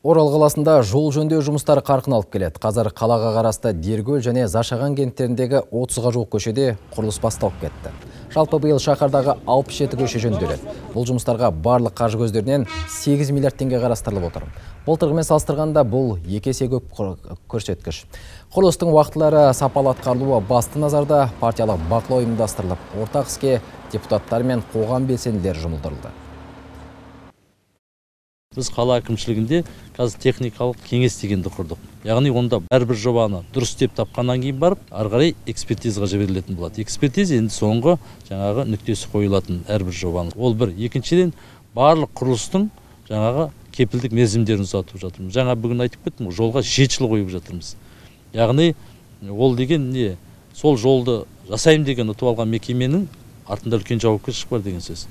Орал қаласында жол жөндеу жұмыстары қарқын алып келеді. Қазір қалаға қарасты Дергөл және Зашаған кенттеріндегі 30-ға жуық көшеде құрылыс басталып кетті. Жалпы биыл шаһардағы 67 көше жөнделеді. Бұл жұмыстарға барлық қаржы көздерінен 8 миллиард теңге қарастырылып отыр. Былтырғымен салыстырғанда бұл 2 есе көп көрсеткіш. Құрылыстың уақытлары сапалы атқарылуы басты назарда, партиялық бақылау ұйымдастырылып, ортақ іске депутаттар мен қоғам белсенділері жұмылдырылды. Біз қала әкімшілігінде қазір техникалық кеңес дегенді құрдық. Яғни онда әрбір жобаны дұрыс деп тапқаннан кейін барып, ары қарай экспертизаға жіберілетін болады. Экспертиза енді соңғы жаңағы нүктесі қойылатын әрбір жобаны. Ол бір. Екіншіден, барлық құрылыстың жаңағы кепілдік мерзімдерін ұзартып жатырмыз. Жаңа бүгін айтып кеттім, жолға 7 жыл қойып жатырмыз. Яғни ол деген не? Сол жолды жасаймын деген ұтып алған мекеменің артында үлкен жауапкершілік бар деген сөз.